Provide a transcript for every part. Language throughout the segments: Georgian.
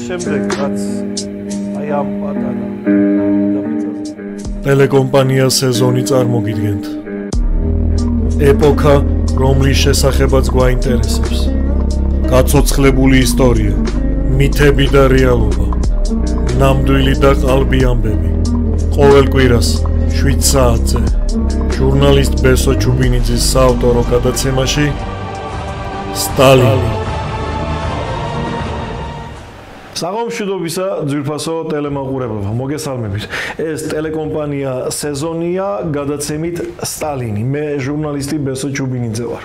შემდეგ რაც აი ამ პატარა ტელეკომპანია სეზონი წარმოგიდგენთ. ეპოქა, რომლის შესახებაც გვაინტერესებს. გაცოცხლებული ისტორია, მითები და რეალობა. ნამდვილი და ყალბი ამბები. ყოველ კვირას 7 საათზე. ჟურნალისტ ბესო ჩუბინიძის საავტორო გადაცემაში სტალინი. საღამოშიდობისა ძვირფასო ტელემაყურებელო, მოგესალმებით. ეს ტელეკომპანია სეზონია გადაცემით სტალინი. მე ჟურნალისტი ბესო ჩუბინიძე ვარ.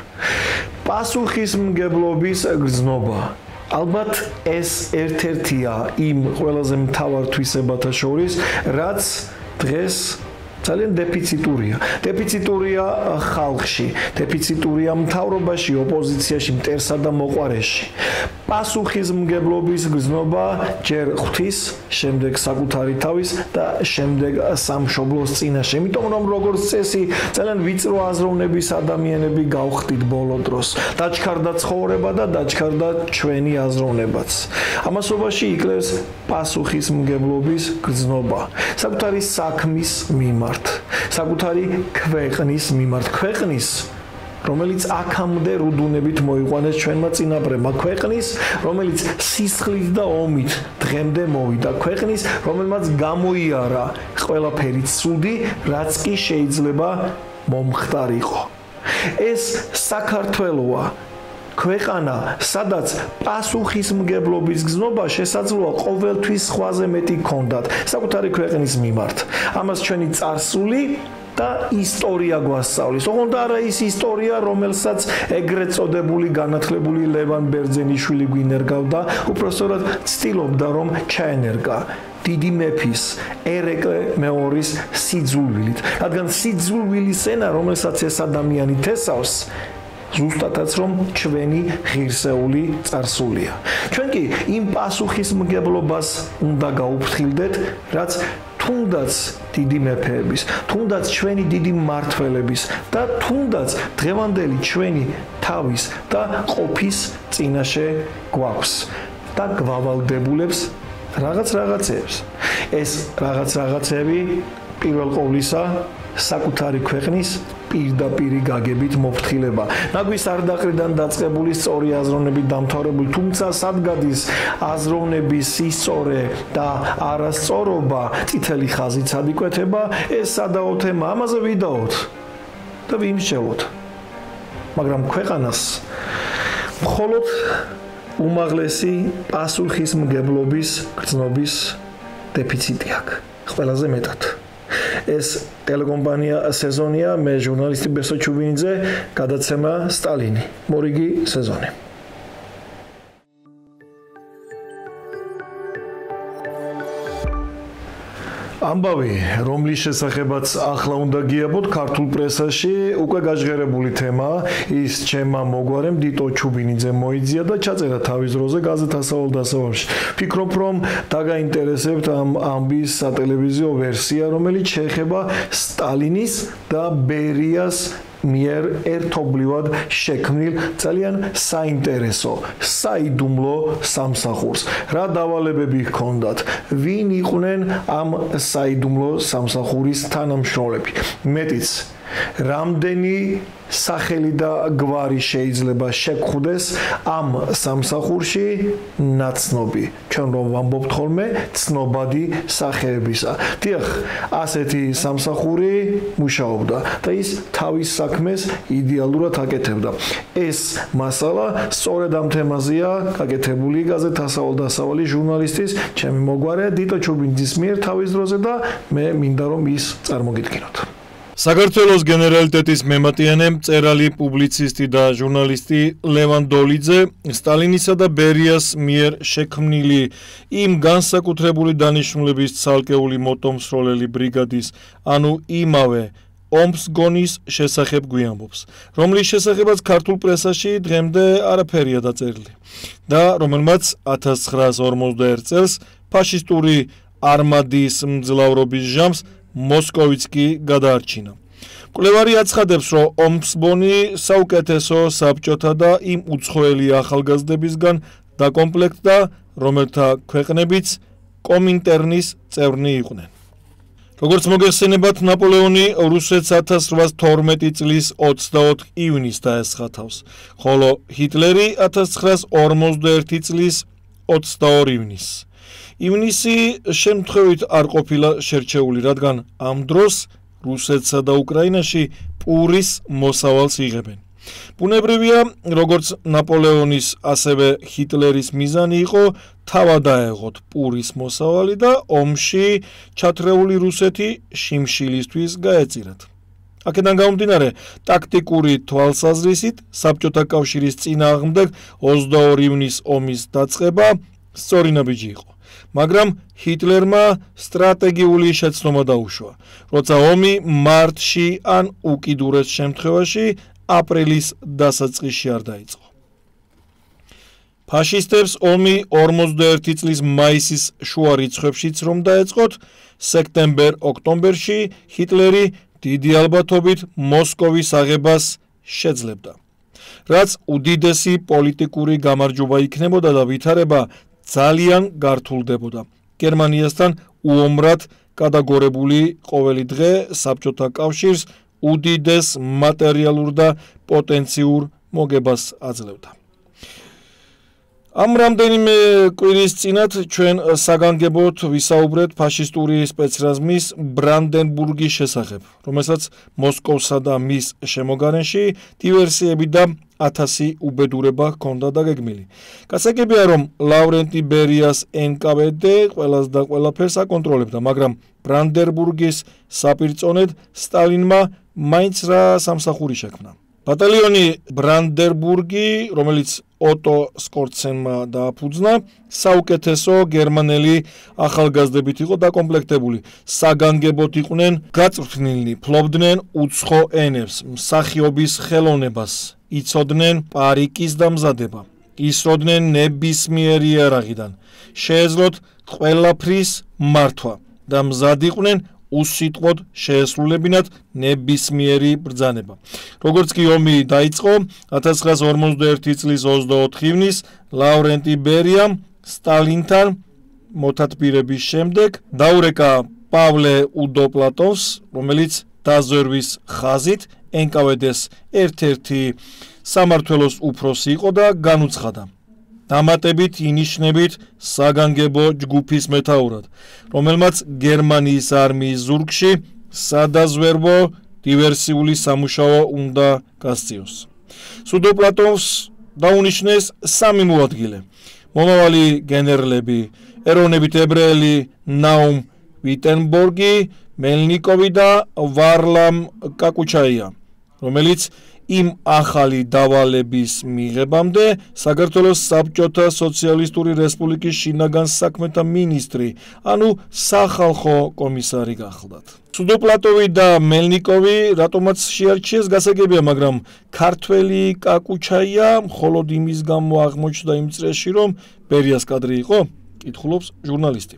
პასუხისმგებლობის გრძნობა. ალბათ ეს ერთ-ერთია იმ ყველაზე მთავარ თვისებათა შორის, რაც დღეს ძალიან დეფიციტურია. დეფიციტურია ხალხში, დეფიციტურია მთავრობაში, ოპოზიციაში, მტერსა და მოყვარეში. პასუხისმგებლობის გრძნობა ჯერ ღვთის, შემდეგ საკუთარი თავის და შემდეგ სამშობლოს წინაშე. იმიტომ რომ როგორც წესი, ძალიან ვიწრო აზროვნების ადამიანები გავხდით ბოლო დროს. დაჩქარდა ცხოვრება და დაჩქარდა ჩვენი აზროვნებაც. ამასობაში იკლებს პასუხისმგებლობის გრძნობა. საკუთარი საქმის მიმართ, საკუთარი ქვეყნის მიმართ, ქვეყნის რომელიც აქამდე რუდუნებით მოიყვანეს ჩვენმა წინაპრებმა, ქვეყნის რომელიც სისხლით და ომით დღემდე მოვიდა, ქვეყნის რომელმაც გამოიარა ყველაფერი ცუდი, რაც კი შეიძლება მომხდარიყო. ეს საქართველოა, ქვეყანა, სადაც პასუხისმგებლობის გრძნობა შესაძლოა ყოველთვის სხვაზე მეტი გქონდათ საკუთარი ქვეყნის მიმართ. ამას ჩვენი წარსული და ისტორია გვასწავლის. ოღონდ არა ის ისტორია, რომელსაც ეგრეთ წოდებული განათლებული ლევან ბერძენიშვილი გვინერგავდა, უпростоრად ცდილობდა რომ ჩაენერგა დიდი მეფის ერეკლე მეორის სიძულვილით. რადგან სიძულვილის ენა, რომელსაც ეს ადამიანი თესავს, ზუსტადაც რომ ჩვენი ღირსეული წარსულია. ჩვენ კი იმ პასუხისმგებლობას უნდა გაუფრთხილდეთ, რაც თუნდაც დიდი მეფეების, თუნდაც ჩვენი დიდი მმართველების და თუნდაც დღევანდელი ჩვენი თავის და ყოფის წინაშე გვაქვს და გვავალდებულებს რაღაცეებს. ეს რაღაცები პირველ ყოვლისა საკუთარი ქვეყნის პირდაპირი გაგებით მოფრთხილება. ნაგვის არდაყრიდან დაწყებული სწორი აზროვნებით დამთავრებული, თუმცა სადგადის აზროვნების სისწორე და არასწორობა, წითელი ხაზით სადიკვეთება, ეს სადაო თემა, ამაზე ვიდაოთ და ვიმსჯელოთ. მაგრამ ქვეყანას მხოლოდ უმაღლესი პასუხისმგებლობის გრძნობის დეფიციტი აქვს. ყველაზე მეტად. ეს ტელეკომპანია სეზონია, მე ჟურნალისტი ბესო ჩუბინიძე, გადაცემა სტალინი, მორიგი სეზონი. ამბავი, რომლის შესახებაც ახლა უნდა გიაბოთ ქართულ პრესაში, უკვე გაჟღერებული თემაა. ის ჩემმა მოგვარემ დიტო ჩუბინიძე მოიძია და ჩაწერა თავის დროზე გაზეთ ასავალ-დასავალში. ფიქრობ, რომ დაგაინტერესებთ ამ ამბის სატელევიზიო ვერსია, რომელიც შეეხება სტალინის და ბერიას მიერ ერთობლივად შექმნილ ძალიან საინტერესო, საიდუმლო სამსახურს. რა დავალებები ჰქონდათ? ვინ იყვნენ ამ საიდუმლო სამსახურის თანამშრომლები? მეტიც, რამდენი სახელი და გვარი შეიძლება შეგხვდეს ამ სამსახურში ნაცნობი. ჩვენ რომ ვამბობთ ხოლმე ცნობადი სახეებისა. დიახ, ასეთი სამსახური მუშაობდა და ის თავის საქმეს იდეალურად აკეთებდა. ეს მასალა სწორედ ამ თემაზეა გაკეთებული გაზეთ ასავალ-დასავალი ჟურნალისტის ჩემი მოგვარე დიტო ჩუბინიძის მიერ თავის დროზე და მე მინდა რომ ის წარმოგიდგინოთ. საქართველოს გენერალიტეტის მემატიანე, მწერალი, პუბლიცისტი და ჟურნალისტი ლევან დოლიძე სტალინისა და ბერიას მიერ შექმნილი იმ განსაკუთრებული დანიშნულების ცალკეული მოტომსროლელი ბრიგადის, ანუ იმავე ომს გონის შესახებ გვიამბობს, რომლის შესახებაც ქართულ პრესაში დღემდე არაფერია დაწერილი და რომელმაც 1941 წელს ფაშისტური არმადის მძლავრობის ჟამს მოსკოვიც კი გადაარჩინა. კვლევარი აცხადებს, რომ ომსბონი საუკეთესო საბჭოთა და იმ უცხოელი ახალგაზრდებისგან დაკომპლექტდა, რომელთა ქვეყნებიც კომინტერნის წევრნი იყვნენ. როგორც მოგეხსენებათ, ნაპოლეონი რუსეთს 1812 წლის 24 ივნისს დაესხა თავს, ხოლო ჰიტლერი 1941 წლის 22 ივნისს. ივნისი შემთხვევით არ ყოფილა შერჩეული, რადგან ამ დროს რუსეთსა და უკრაინაში პურის მოსავალს იღებენ. ბუნებრივია, როგორც ნაპოლეონის, ასევე ჰიტლერის მიზანი იყო თავად აეღოთ პურის მოსავალი და ომში ჩათრეული რუსეთი შიმშილისთვის გაეწირათ. აქედან გამომდინარე, ტაქტიკური თვალსაზრისით საბჭოთა კავშირის წინააღმდეგ 22 ივნისის ომის დაწყება სწორი ნაბიჯი იყო. მაგრამ ჰიტლერმა სტრატეგიული შეცდომა დაუშვა, როცა ომი მარტში ან უკიდურეს შემთხვევაში აპრილის დასაწყისში არ დაიწყო. ფაშისტებს ომი 41 წლის მაისის შუა რიცხვებშიც რომ დაეწყოთ, სექტემბერ-ოქტომბერში ჰიტლერი დიდი ალბათობით მოსკოვის აღებას შეძლებდა. რაც უდიდესი პოლიტიკური გამარჯვება იქნებოდა და ვითარება ძალიან გართულდებოდა. გერმანიასთან უომრად გადაგორებული ყოველი დღე საბჭოთა კავშირს უდიდეს მატერიალურ და პოტენციურ მოგებას აძლევდა. ამ რამდენიმე კვირის წინათ ჩვენ საგანგებოდ ვისაუბრეთ ფაშისტური სპეცრაზმის ბრანდენბურგის შესახებ, რომელსაც მოსკოვსა და მის შემოგარენში დივერსიები და 1000 უბედურება ჰქონდა დაგეგმილი. გასაგებია, რომ ლავრენტი ბერიას NKVD ყველას და ყველაფერს აკონტროლებდა, მაგრამ ბრანდენბურგის საპირწონედ სტალინმა მაინც რა სამსახური შექმნა. ბატალიონი ბრანდენბურგი, რომელიც ოტო სკორცენმა დააფუძნა, საუკეთესო გერმანელი ახალგაზრდებით იყო დაკომპლექტებული. საგანგებოდ იყვნენ გაწვრთნილნი, ფლობდნენ უცხო ენებს, მსახიობის ხელოვნებას, იცოდნენ პარიკის დამზადება, ისროდნენ ნებისმიერი იარაღიდან, შეეძლოთ ყველაფრის მართვა და მზად იყვნენ უსიტყვოდ შეესრულებინათ ნებისმიერი ბრძანება. როგორც კი ომი დაიწყო, 1941 წლის 24 ივნისს ლავრენტი ბერიამ სტალინთან მოთათბირების შემდეგ დაურეკა პავლე უდოპლატოვს, რომელიც დაზვერვის ხაზით NKVD-ს ერთ-ერთი სამმართველოს უფროსი იყო და განუცხადა. დამატებით ინიშნებით საგანგებო ჯგუფის მეთაურად, რომელმაც გერმანიის არმიის ზურგში სადაზვერვო დივერსიული სამუშაო უნდა გასწიოს. სუდოპლატოვს დაუნიშნეს 3 მოადგილე: მომავალი გენერლები, ეროვნებით ებრაელი ნაუმ ვიტენბორგი, მელნიკოვი და ვარლამ კაკუჩაია, რომელიც იმ ახალი დავალების მიღებამდე საქართველოს საბჭოთა სოციალისტური რესპუბლიკის შინაგან საქმეთა მინისტრი, ანუ სახალხო კომისარი გახლდათ. სუდოპლატოვი და მელნიკოვი რატომაც შეარჩიეს გასაგებია, მაგრამ ქართველი კაკუჩაია მხოლოდ იმის გამო აღმოჩნდა იმ წრეში, რომ ბერიას კადრი იყო, კითხულობს ჟურნალისტი.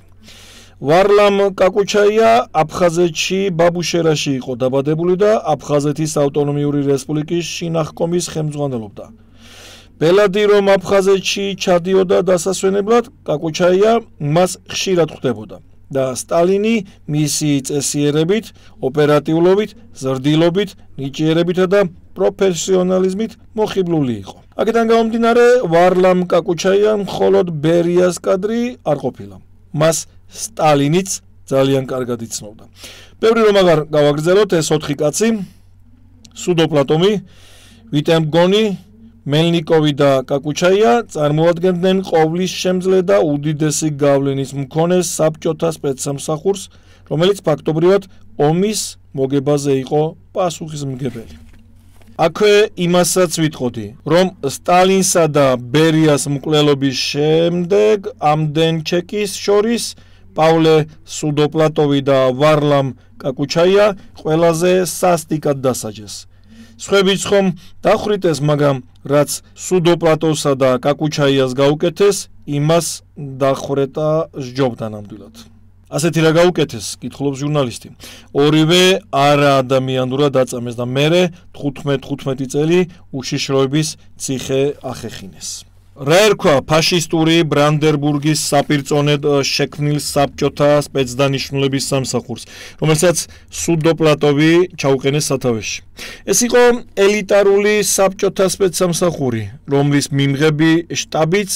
ვარლამ კაკუჩაია აფხაზეთში ბაბუშერაში იყო დაბადებული და აფხაზეთის ავტონომიური რესპუბლიკის შინახკომის ხელმძღვანელობდა. ბელადი რომ აფხაზეთში ჩადიოდა დასასვენებლად, კაკუჩაია მას ხშირად ხვდებოდა და სტალინი მისი წესიერებით, ოპერატიულობით, ზრდილობით, ნიჭიერებითა და პროფესიონალიზმით მოხიბლული იყო. აქედან გამომდინარე, ვარლამ კაკუჩაია მხოლოდ ბერიას კადრი არ ყოფილა. მას სტალინიც ძალიან კარგად იცნობდა. ბევრი რომ აღარ გავაგრძელოთ, ეს 4 კაცი, სუდოპლატოვი, ვიტენბორგი, მელნიკოვი და კაკუჩაია წარმოადგენდნენ ყოვლის შემძლე და უდიდესი გავლენის მქონე საბჭოთა სპეცსამსახურს, რომელიც ფაქტობრივად ომის მოგებაზე იყო პასუხისმგებელი. აქვე იმასაც ვიტყოდი, რომ სტალინსა და ბერიას მკვლელობის შემდეგ ამდენ ჩეკის შორის პავლე სუდოპლატოვი და ვარლამ კაკუჩაია ყველაზე სასტიკად დასაჯეს. სხვებიც ხომ დახვრიტეს, მაგრამ რაც სუდოპლატოვსა და კაკუჩაიას გაუკეთეს, იმას დახვრეტა სჯობდა ნამდვილად. ასეთი რა გაუკეთეს, კითხულობს ჟურნალისტი. ორივე არაადამიანურად აწამეს და მერე 15 წელი უშიშროების ციხე ახეხინეს. რა ერქვა ფაშისტური ბრანდენბურგის საპირწონედ შექმნილ საბჭოთა სპეცდანიშნულების სამსახურს, რომელსაც სუდოპლატოვი ჩაუყენეს სათავეში. ეს იყო ელიტარული საბჭოთა სპეცსამსახური, რომლის მიმღები შტაბიც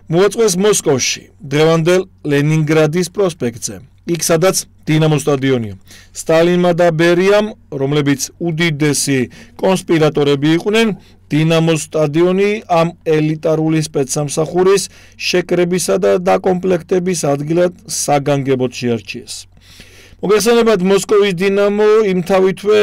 მოაწყვეს მოსკოვში, დღევანდელ ლენინგრადის პროსპექტზე. იქ სადაც დინამოს სტადიონია. სტალინმა და ბერიამ, რომლებიც უდიდესი კონსპირატორები იყვნენ, დინამოს სტადიონი ამ ელიტარული სპეცსამსახურის შეკრებისა და დაკომპლექტების ადგილად საგანგებოდ შეარჩიეს. მოგესალმებით, მოსკოვის დინამო იმთავითვე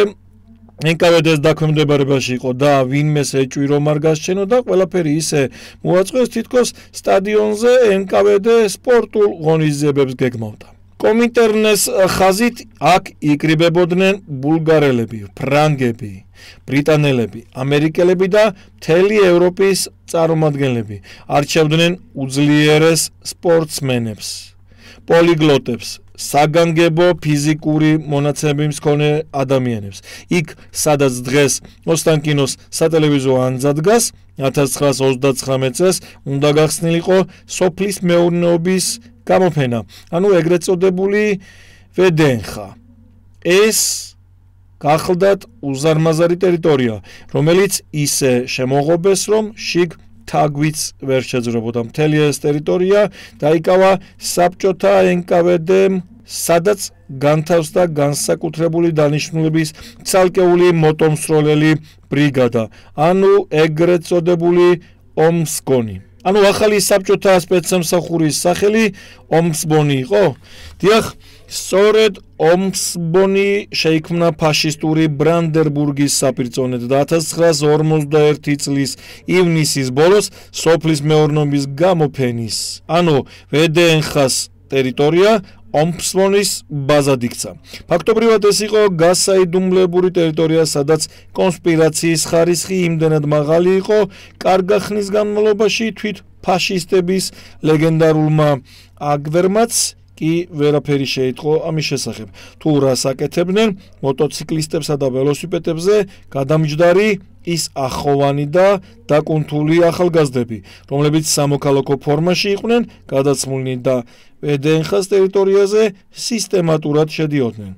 NKVD-ს დაქვემდებარებაში იყო და ვინმეს ეჭვი რომ არ გასჩენოდა, ყველაფერი ისე მოაწყვეს, თითქოს სტადიონზე NKVD სპორტულ ღონისძიებებს გეგმავდა. კომინტერნეს ხაზით აქ იკრიბებოდნენ ბულგარელები, ფრანგები, ბრიტანელები, ამერიკელები და მთელი ევროპის წარმომადგენლები. არჩევდნენ უძლიერეს სპორტსმენებს, პოლიგლოტებს, საგანგებო ფიზიკური მონაცემების მქონე ადამიანებს. იქ, სადაც დღეს ოსტანკინოს სატელევიზიო ანძა დგას, 1939 წელს უნდა გახსნილიყო სოფლის მეურნეობის გამოფენა, ანუ ეგრეთ წოდებული ვედენხა. ეს გახლდათ უზარმაზარი ტერიტორია, რომელიც ისე შემოღობეს, რომ შიგ თაგვიც ვერ შეძრებოდა. მთელი ეს ტერიტორია დაიკავა საბჭოთა NKVD-მ, სადაც განთავსდა განსაკუთრებული დანიშნულების ცალკეული მოტომსროლელი ბრიგადა, ანუ ეგრეთ წოდებული ომსკონი. ანუ ახალი საბჭოთა სპეცსამსახურის სახელი ომსბონი იყო? დიახ, სწორედ ომსბონი შეიქმნა ფაშისტური ბრანდენბურგის საპირწონედ და 1941 წლის ივნისის ბოლოს სოფლის მეურნეობის გამოფენის, ანუ ვედენხას ტერიტორია ომსბონის ბაზად იქცა. ფაქტობრივად ეს იყო გასაიდუმლებული ტერიტორია, სადაც კონსპირაციის ხარისხი იმდენად მაღალი იყო, კარგა ხნის განმავლობაში თვით ფაშისტების ლეგენდარულმა აგვერმაც კი ვერაფერი შეიტყო ამის შესახებ. თუ რას აკეთებდნენ მოტოციკლისტებსა და ველოსიპედებზე გადამჯდარი ის ახოვანი და დაკუნთული ახალგაზრდები, რომლებიც სამოქალაქო ფორმაში იყვნენ გადაცმულნი და ვედენხას ტერიტორიაზე სისტემატურად შედიოდნენ.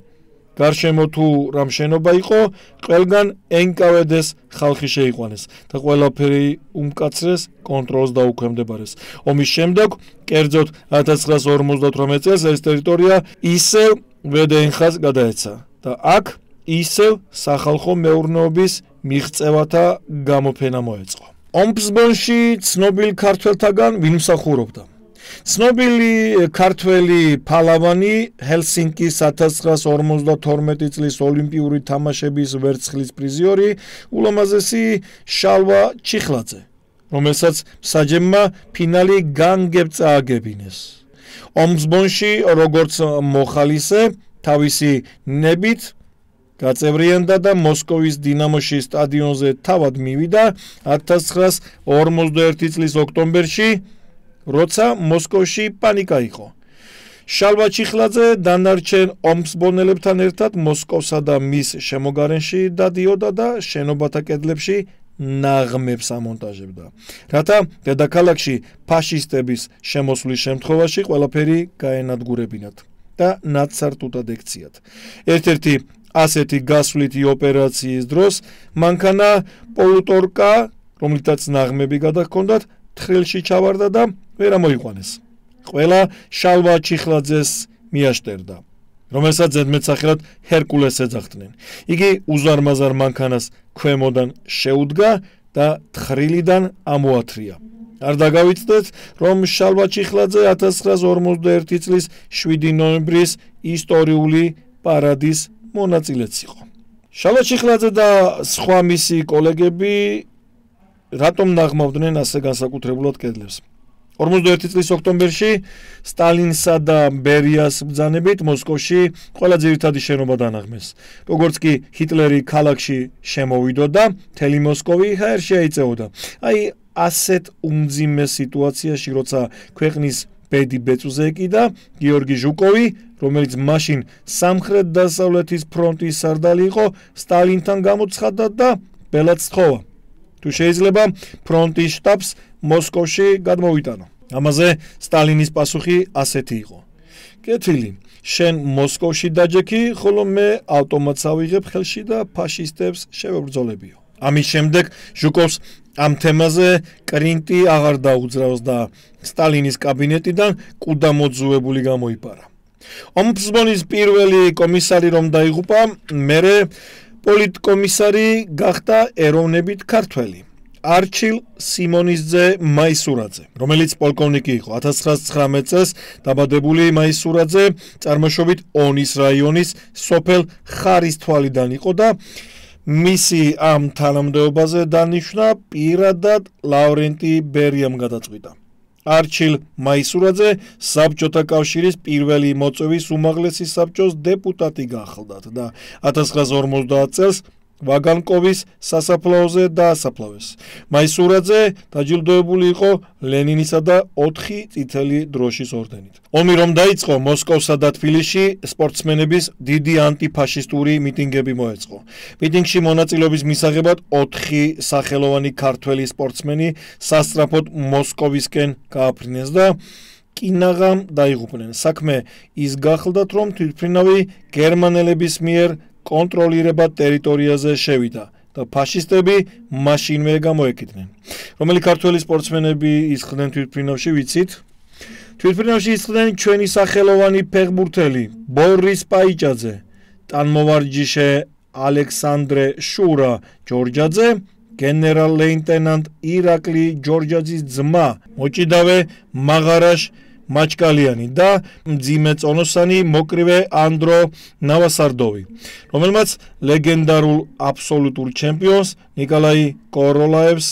გარშემო თუ რამ შენობა იყო, ყველგან NKVD-ს ხალხი შეიყვანეს და ყველაფერი უმკაცრეს კონტროლს დაუქვემდებარეს. ომის შემდეგ, კერძოდ 1958 წელს ეს ტერიტორია ისევ ვედენხას გადაეცა და აქ ისევ სახალხო მეურნეობის მიღწევათა გამოფენა მოეწყო. ომსბონში ცნობილ ქართველთაგან ვინ მსახურობდა? ცნობილი ქართველი ფალავანი, ჰელსინკის 1952 წლის ოლიმპიური თამაშების ვერცხლის პრიზიორი, ულამაზესი შალვა ჩიხლაძე, რომელსაც მსაჯებმა ფინალი განგებ წააგებინეს. ომსბონში, როგორც მოხალისე, თავისი ნებით გაწევრიანდა და მოსკოვის დინამოში სტადიონზე თავად მივიდა 1941 წლის ოქტომბერში, როცა მოსკოვში პანიკა იყო. შალვა ჩიხლაძე დანარჩენ ომსბონელებთან ერთად მოსკოვსა და მის შემოგარენში დადიოდა და შენობათა კედლებში ნაღმებს ამონტაჟებდა, რათა დედაქალაქში ფაშისტების შემოსვლის შემთხვევაში ყველაფერი გაენადგურებინათ და ნაცარტუდად ექციათ. ერთ-ერთი ასეთი გასვლითი ოპერაციის დროს მანქანა პოლუტორკა, რომლითაც ნაღმები გადაჰქონდათ, თხრილში ჩავარდა და ვერ ამოიყვანეს. ყველა შალვა ჩიხლაძეს მიაშტერდა, რომელსაც ზედმეტსახელად ჰერკულეს ეძახდნენ. იგი უზარმაზარ მანქანას ქვემოდან შეუდგა და თხრილიდან ამოათრია. არ დაგავიწყდეთ, რომ შალვა ჩიხლაძე 1941 წლის 7 ნოემბრის ისტორიული პარადის მონაწილეც იყო. შალვა ჩიხლაძე და სხვა მისი კოლეგები რატომ ნაღმავდნენ ასე განსაკუთრებულად კედლებს? 41 წლის ოქტომბერში სტალინსა და ბერიას ბრძანებით მოსკოვში ყველა ძირითადი შენობა დანაღმეს. როგორც კი ჰიტლერი ქალაქში შემოვიდოდა, მთელი მოსკოვი ჰაერში აიწეოდა. აი ასეთ უმძიმე სიტუაციაში, როცა ქვეყნის ბედი ბეწვზე ეკიდა, გიორგი ჟუკოვი, რომელიც მაშინ სამხრეთ-დასავლეთის ფრონტის სარდალი იყო, სტალინთან გამოცხადდა და ბელადს თხოვა. თუ შეიძლება ფრონტის შტაბს მოსკოვში გადმოვიტანო. ამაზე სტალინის პასუხი ასეთი იყო: კეთილი, შენ მოსკოვში დაჯექი, ხოლო მე ავტომატს ავიღებ ხელში და ფაშისტებს შევებრძოლებიო. ამის შემდეგ ჟუკოვს ამ თემაზე კრინტი აღარ დაუძრავს და სტალინის კაბინეტიდან კუდა მოძუებული გამოიპარა. ომბუდსმენის პირველი კომისარი რომ დაიღუპა, მერე პოლიტკომისარი გახდა ეროვნებით ქართველი არჩილ სიმონისძე მაისურაძე, რომელიც პოლკოვნიკი იყო. 1919 წელს დაბადებული მაისურაძე წარმოშობით ონის რაიონის სოფელ ხარისთვალიდან იყო და მისი ამ თანამდებობაზე დანიშვნა პირადად ლავრენტი ბერიამ გადაწყვიტა. არჩილ მაისურაძე საბჭოთა კავშირის პირველი მოწვევის უმაღლესი საბჭოს დეპუტატი გახლდათ და 1950 წელს ვაგანკოვის სასაფლაოზე დაასაფლავეს. მაისურაძე დაჯილდოებული იყო ლენინისა და 4 წითელი დროშის ორდენით. ომი რომ დაიწყო, მოსკოვსა და თბილისში სპორტსმენების დიდი ანტიფაშისტური მიტინგები მოეწყო. მიტინგში მონაწილეობის მისაღებად 4 სახელოვანი ქართველი სპორტსმენი სასწრაფოდ მოსკოვისკენ გააფრინეს და კინაღამ დაიღუპნენ. საქმე ის გახლდათ, რომ თვითმფრინავი გერმანელების მიერ კონტროლირება ტერიტორიაზე შევიდა და ფაშისტები მაშინვე გამოეკიდნენ. რომელი ქართველი სპორტსმენები ისხდნენ თვითმფრინავში, ვიცით? თვითმფრინავში ისხდნენ ჩვენი სახელოვანი ფეხბურთელი ბორის პაიჭაძე, ტანმოვარჯიშე ალექსანდრე შურა ჯორჯაძე, გენერალ-ლეიტენანტ ირაკლი ჯორჯაძის ძმა მოჭიდავე მაღარაშ მაჩკალიანი და მძიმე წონოსანი მოკრივე ანდრო ნავასარდოვი, რომელმაც ლეგენდარულ აბსოლუტურ ჩემპიონს ნიკოლაი კოროლაევს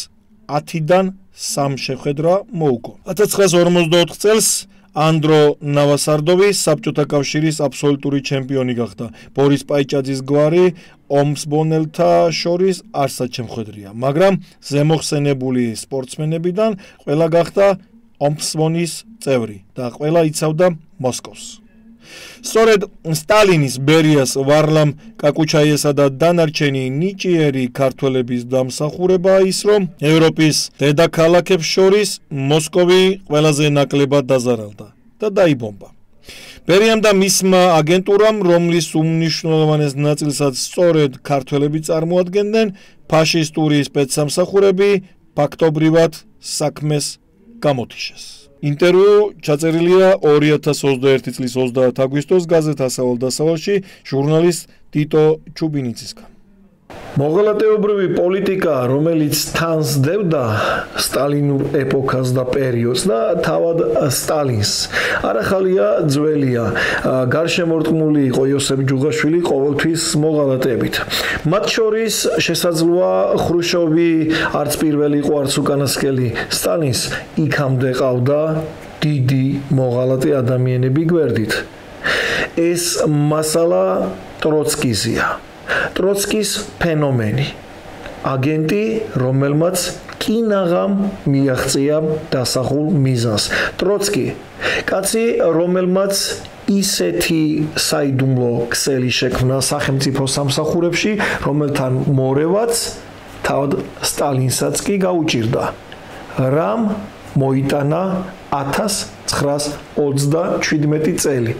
10-დან 3 შეხვედრა მოუგო. 1954 წელს ანდრო ნავასარდოვი საბჭოთა კავშირის აბსოლუტური ჩემპიონი გახდა. ბორის პაიჭაძის გვარი ომსბონელთა შორის არსად შემხვედრია, მაგრამ ზემოხსენებული სპორტსმენებიდან ყველა გახდა ომსბონის წევრი და ყველა იცავდა მოსკოვს. სწორედ სტალინის, ბერიას, ვარლამ კაკუჩაიესა და დანარჩენი ნიჭიერი ქართველების დამსახურებაა ის, რომ ევროპის დედაქალაქებს შორის მოსკოვი ყველაზე ნაკლებად დაზარალდა და დაიბომბა. ბერიამ და მისმა აგენტურამ, რომლის უმნიშვნელოვანეს ნაწილსაც სწორედ ქართველები წარმოადგენდნენ, ფაშისტური სპეცსამსახურები ფაქტობრივად საქმეს გამოთიშეს. ინტერვიუ ჩაწერილია 2021 წლის 30 აგვისტოს გაზეთ „ასავალ დასავალში“ ჟურნალისტ ტიტო ჩუბინიცისგან. მოღალატეობრივი პოლიტიკა, რომელიც თან სდევდა სტალინურ ეპოქას და პერიოდს და თავად სტალინს, არახალია ძველია. გარშემორტყმული იყო იოსებ ჯუღაშვილი ყოველთვის მოღალატეებით. მათ შორის შესაძლოა ხრუშოვი არც პირველი იყო, არც უკანასკელი. სტალინს იქამდე ყავდა დიდი მოღალატე ადამიანები გვერდით. ეს მასალა ტროცკიზია. ტროცკის ფენომენი, აგენტი, რომელმაც კინაღამ მიაღწია დასახულ მიზანს. ტროცკი, კაცი, რომელმაც ისეთი საიდუმლო ქსელი შექმნა სახელმწიფო სამსახურებში, რომელთან მორევაც თავად სტალინსაც კი გაუჭირდა. რამ მოიტანა 1927 წელი.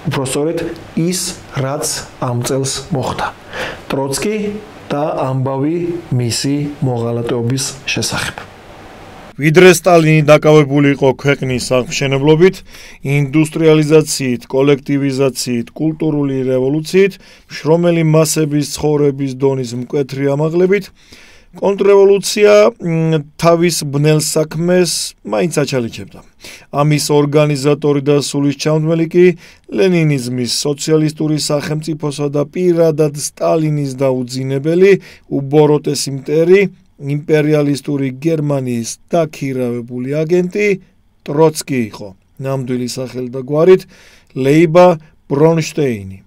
უბრალოდ ის, რაც ამ წელს მოხდა. ტროცკი და ამბავი მისი მოღალატეობის შესახებ. ვიდრე სტალინი დაკავებული იყო ქვეყნის აღმშენებლობით, ინდუსტრიალიზაციით, კოლექტივიზაციით, კულტურული რევოლუციით, შრომელი მასების ცხოვრების დონის მკვეთრი ამაღლებით, კონტრრევოლუცია თავის ბნელ საქმეს მაინც აჩალიჩებდა. ამის ორგანიზატორი და სულისჩამდგმელი კი ლენინიზმის, სოციალისტური სახელმწიფოსა და პირადად სტალინის დაუძინებელი უბოროტესი მტერი, იმპერიალისტური გერმანიის დაქირავებული აგენტი ტროცკი იყო. ნამდვილი სახელი და გვარით ლეიბა ბრონშტეინი.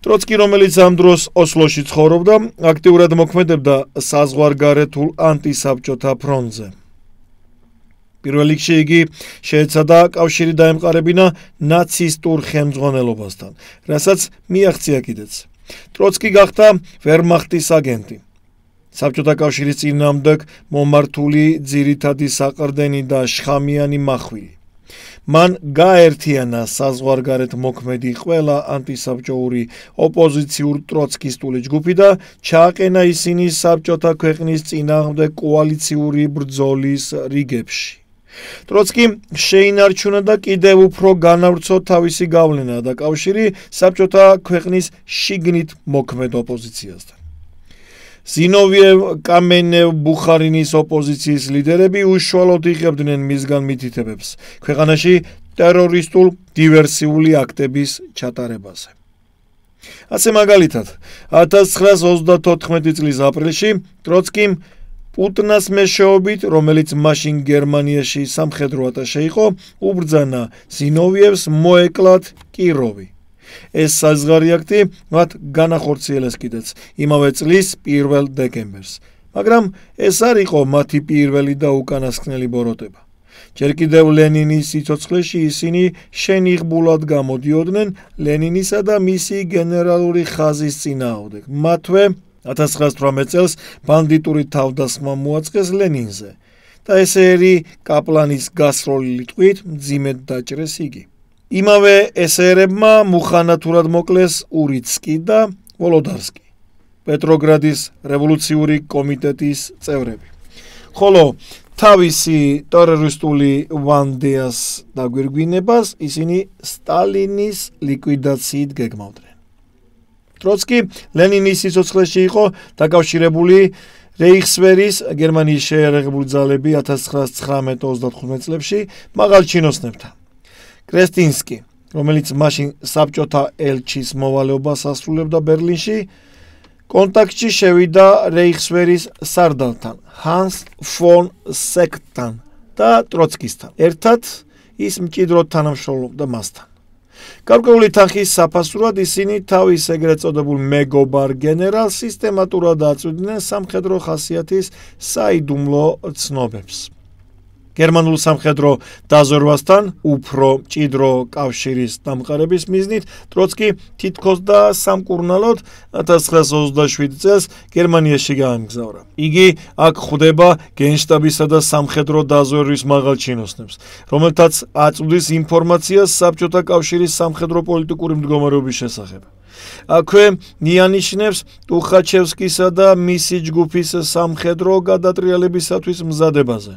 ტროცკი, რომელიც ამ დროს ოსლოში ცხოვრობდა, აქტიურად მოქმედებდა საზღვარგარეთულ ანტისაბჭოთა ფრონტზე. პირველ რიგში იგი შეეცადა კავშირი დაემყარებინა ნაცისტურ ხელმძღვანელობასთან, რასაც მიაღწია კიდეც. ტროცკი გახდა ვერმახტის აგენტი. საბჭოთა კავშირის წინააღმდეგ მომართული ძირითადი საყრდენი და შხამიანი მახვილი. მან გააერთიანა საზღვარგარეთ მოქმედი ყველა ანტისაბჭოური ოპოზიციურ ტროცკისტული ჯგუფი და ჩააყენა ისინი საბჭოთა ქვეყნის წინააღმდეგ კოალიციური ბრძოლის რიგებში. ტროცკიმ შეინარჩუნა და კიდევ უფრო განავრცო თავისი გავლენა და კავშირი საბჭოთა ქვეყნის შიგნით მოქმედ ოპოზიციასთან. ზინოვიევ, კამენევ, ბუხარინის ოპოზიციის ლიდერები უშუალოდ იღებდნენ მისგან მითითებებს ქვეყანაში ტერორისტულ დივერსიული აქტების ჩატარებაზე. ასე მაგალითად, 1934 წლის აპრილში ტროცკიმ პუტნას მეშვეობით, რომელიც მაშინ გერმანიაში სამხედრო ატაშე იყო, უბრძანა ზინოვიევს მოეკლათ კიროვი. ეს საზღვარი აქტი მათ განახორციელეს კიდეც იმავე წლის 1 დეკემბერს, მაგრამ ეს არ იყო მათი პირველი და უკანასკნელი ბოროტება. ჯერ კიდევ ლენინის სიცოცხლეში ისინი შენიღბულად გამოდიოდნენ ლენინისა და მისი გენერალური ხაზის წინააღმდეგ. მათვე 1918 წელს ბანდიტური თავდასხმა მოაწყეს ლენინზე და ესერი კაპლანის გასროლილი ტყვით მძიმედ დაჭრეს იგი. იმავე ესერებმა მუხანათურად მოკლეს ურიცკი და ვოლოდარსკი, პეტროგრადის რევოლუციური კომიტეტის წევრები. ხოლო თავისი ტერორისტული ვანდეას დაგვირგვინებას ისინი სტალინის ლიკვიდაციით გეგმავდნენ. ტროცკი ლენინის სიცოცხლეში იყო დაკავშირებული რეიხსვერის გერმანიის შეიარაღებული ძალები 1919-35 წლებში მაღალ ჩინოსნებთან. კრესტინსკი, რომელიც მაშინ საბჭოთა ელჩის მოვალეობას ასრულებდა ბერლინში, კონტაქტში შევიდა რეიხსვერის სარდალთან, ჰანს ფონ სექტთან და ტროცკისთან. ერთად ის მჭიდროდ თანამშრომლობდა მასთან. გარკვეული თანხის საფასურად ისინი თავის ეგრეთ წოდებულ მეგობარ გენერალს სისტემატურად აწვდიდნენ სამხედრო ხასიათის საიდუმლო ცნობებს. გერმანულ სამხედრო დაზვერვასთან უფრო მჭიდრო კავშირის დამყარების მიზნით ტროცკი თითქოს და სამკურნალოდ 1927 წელს გერმანიაში გაემგზავრა. იგი აქ ხვდება გენშტაბისა და სამხედრო დაზვერვის მაღალ ჩინოსნებს, რომელთაც აწვდის ინფორმაციას საბჭოთა კავშირის სამხედრო პოლიტიკური მდგომარეობის შესახებ. აქვე მიანიშნებს ტუხაჩევსკისა და მისი ჯგუფის სამხედრო გადატრიალებისათვის მზადებაზე.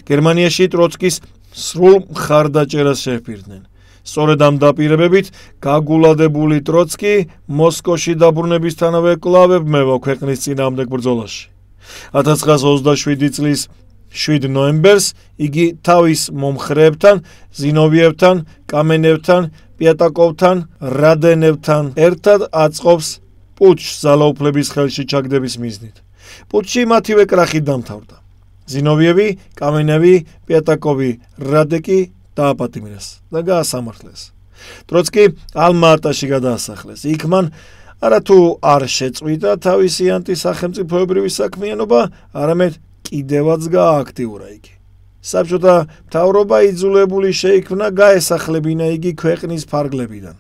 გერმანიაში ტროცკის სრულ მხარდაჭერას შეჰპირდნენ. სწორედ ამ დაპირებებით გაგულადებული ტროცკი მოსკოვში დაბრუნებისთანავე კვლავ ებმევა ქვეყნის წინააღმდეგ ბრძოლაში. 1927 წლის 7 ნოემბერს იგი თავის მომხრეებთან, ზინოვიევთან, კამენევთან, პიატაკოვთან, რადენევთან ერთად აწყობს პუტჩს ძალაუფლების ხელში ჩაგდების მიზნით. პუტჩი მათივე კრახით დამთავრდა. ზინოვიევი, კამენევი, პიატაკოვი, რადეკი დააპატიმრეს და გაასამართლეს. ტროცკი ალმა-ატაში გადაასახლეს. იქ მან არათუ არ შეწყვიტა თავისი ანტისახელმწიფოებრივი საქმიანობა, არამედ კიდევაც გაააქტიურა იგი. საბჭოთა მთავრობა იძულებული შეიქმნა გაესახლებინა იგი ქვეყნის ფარგლებიდან.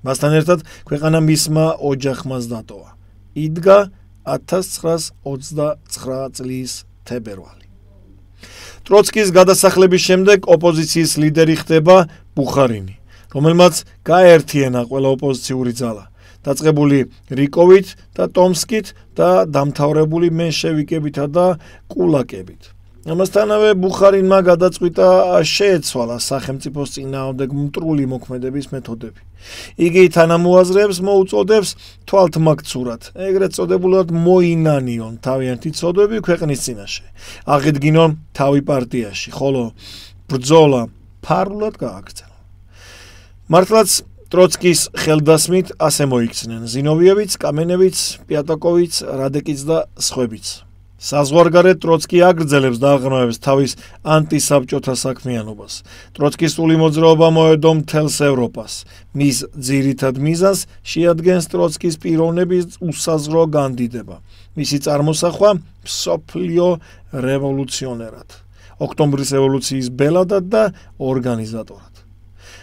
მასთან ერთად ქვეყანა მისმა ოჯახმაც დატოვა. იდგა 1929 წლის თებერვალი. ტროცკის გადასახლების შემდეგ ოპოზიციის ლიდერი ხდება ბუხარინი, რომელმაც გააერთიანა ყველა ოპოზიციური ძალა, დაწყებული რიკოვით და ტომსკით და დამთავრებული მენშევიკებითა და კულაკებით. ამასთანავე ბუხარინმა გადაწყვიტა შეეცვალა სახელმწიფოს წინააღმდეგ მტრული მოქმედების მეთოდები. იგი თანამოაზრეებს მოუწოდებს თვალთმაქცურად, ეგრეთ წოდებულად მოინანიონ თავიანთი ცოდვები ქვეყნის წინაშე, აღედგინონ თავი პარტიაში, ხოლო ბრძოლა ფარულად გააგრძელონ. მართლაც ტროცკის ხელდასმით ასე მოიქცნენ ზინოვიევიც, კამენევიც, პიატაკოვიც, რადეკიც და სხვებიც. საზღვარგარეთ ტროცკი აგრძელებს და აღრმავებს თავის ანტისაბჭოთა საქმიანობას. ტროცკისტული მოძრაობა მოედო მთელს ევროპას. მის ძირითად მიზანს შეადგენს ტროცკის პიროვნების უსაზღვრო განდიდება. მისი წარმოსახვა მსოფლიო რევოლუციონერად, ოქტომბრის რევოლუციის ბელადად და ორგანიზატორად.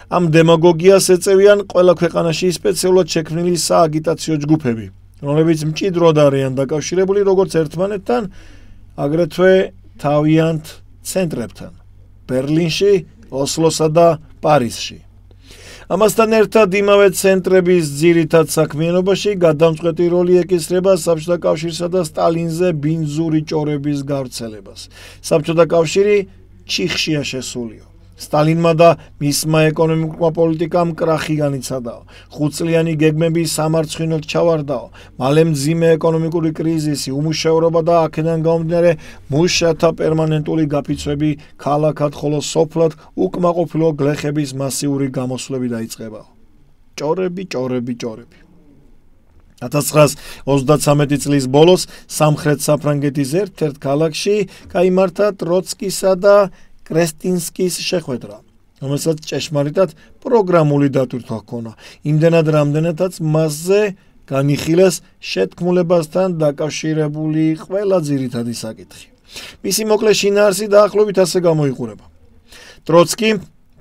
ამ დემაგოგიას ეწევიან ყველა ქვეყანაში სპეციალურად შექმნილი სააგიტაციო ჯგუფები, რომლებიც მჭიდროდ არიან დაკავშირებული როგორც ერთმანეთთან, აგრეთვე თავიანთ ცენტრებთან, ბერლინში, ოსლოსა და პარიზში. ამასთან ერთად იმავე ცენტრების ძირითად საქმიანობაში გადამწყვეტი როლი ეკისრება საბჭოთა კავშირსა და სტალინზე ბინძური ჭორების გავრცელებას. საბჭოთა კავშირი ჩიხშია შესულიო. სტალინმა და მისმა ეკონომიკურმა პოლიტიკამ კრახი განიცადაო. 5 წლიანი გეგმები სამარცხინოდ ჩავარდაო. მალე მძიმე ეკონომიკური კრიზისი, უმუშევრობა და აქედან გამომდინარე მუშათა პერმანენტული გაფიცვები ქალაქად, ხოლო სოფლად უკმაყოფილო გლეხების მასიური გამოსვლები დაიწყებაო. ჭორები. 1933 წლის ბოლოს სამხრეთ საფრანგეთის ერთ-ერთ ქალაქში გაიმართა ტროცკისა და კრესტინსკის შეხვედრა, რომელსაც ჭეშმარიტად პროგრამული დატვირთვა ჰქონა, იმდენად რამდენადაც მასზე განიხილეს შეთქმულებასთან დაკავშირებული ყველა ძირითადი საკითხი. მისი მოკლე შინაარსი დაახლოებით ასე გამოიყურება. ტროცკი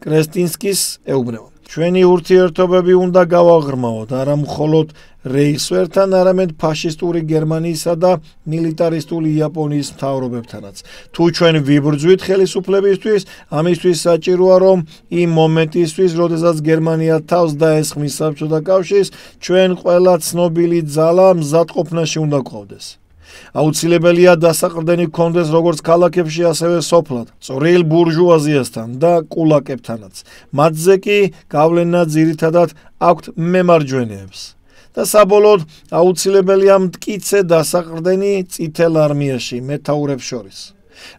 კრესტინსკის ეუბნება: ჩვენი ურთიერთობები უნდა გავაღრმავოთ არა მხოლოდ რეიხსვერთან, არამედ ფაშისტური გერმანიისა და მილიტარისტული იაპონიის მთავრობებთანაც. თუ ჩვენ ვიბრძვით ხელისუფლებისთვის, ამისთვის საჭიროა, რომ იმ მომენტისთვის, როდესაც გერმანია თავს დაესხმის საბჭოთა კავშირს, ჩვენ ყველა ცნობილი ძალა მზადყოფნაში უნდა გვყავდეს. აუცილებელია დასაყრდენი გქონდეს როგორც ქალაქებში, ასევე სოფლად, წვრილ ბურჟუაზიასთან და კულაკებთანაც. მათზე კი გავლენა ძირითადად აქვთ მემარჯვენეებს. და საბოლოოდ აუცილებელია მტკიცე დასაყრდენი წითელ არმიაში მეთაურებს შორის.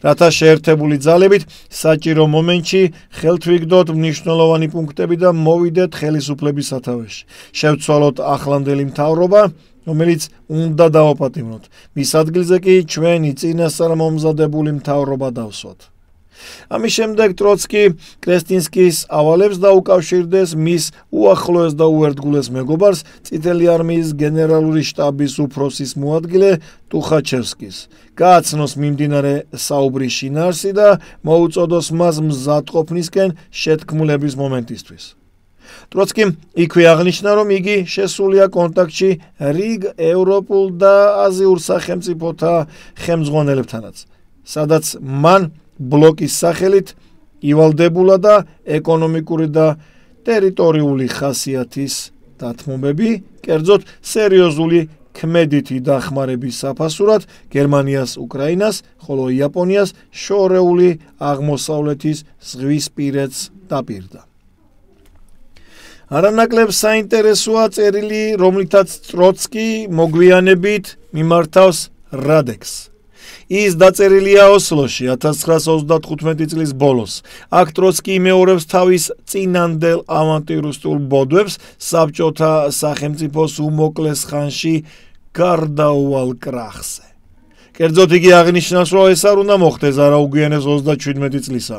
რათა შეერთებული ძალებით საჭირო მომენტში ხელთ ვიგდოთ მნიშვნელოვანი პუნქტები და მოვიდეთ ხელისუფლების სათავეში. შევცვალოთ ახლანდელი მთავრობა, რომელიც უნდა დავაპატიმროთ. მის ადგილზე კი ჩვენი წინასწარმომზადებული მთავრობა დავსვათ. ამის შემდეგ ტროცკი კრესტინსკის ავალებს დაუკავშირდეს მის უახლოეს და უერთგულეს მეგობარს, წითელი არმიის გენერალური შტაბის უფროსის მოადგილე ტუხაჩევსკის. გააცნოს მიმდინარე საუბრის შინაარსი და მოუწოდოს მას მზადყოფნისკენ შეთქმულების მომენტისთვის. ტროცკიმ იქვე აღნიშნა, რომ იგი შესულია კონტაქტში რიგ ევროპულ და აზიურ სახელმწიფოთა ხელმძღვანელებთანაც, სადაც მან ბლოკის სახელით ივალდებულა და ეკონომიკური და ტერიტორიული ხასიათის დათმობები, კერძოდ სერიოზული ქმედითი დახმარების საფასურად გერმანიას უკრაინას, ხოლო იაპონიას შორეული აღმოსავლეთის ზღვისპირეთს დაპირდა. არანაკლებ საინტერესოა წერილი, რომლითაც ტროცკი მოგვიანებით მიმართავს რადექს. ის დაწერილია ოსლოში 1935 წლის ბოლოს. აქ ტროცკი იმეორებს თავის წინანდელ ავანტირისტულ ბოდვებს საბჭოთა სახელმწიფოს უმოკლეს ხანში გარდაუვალ კრახზე. კერძოდ იგი აღნიშნავს, რომ ეს არ უნდა მოხდეს არაუგვიანეს 37 წლისა,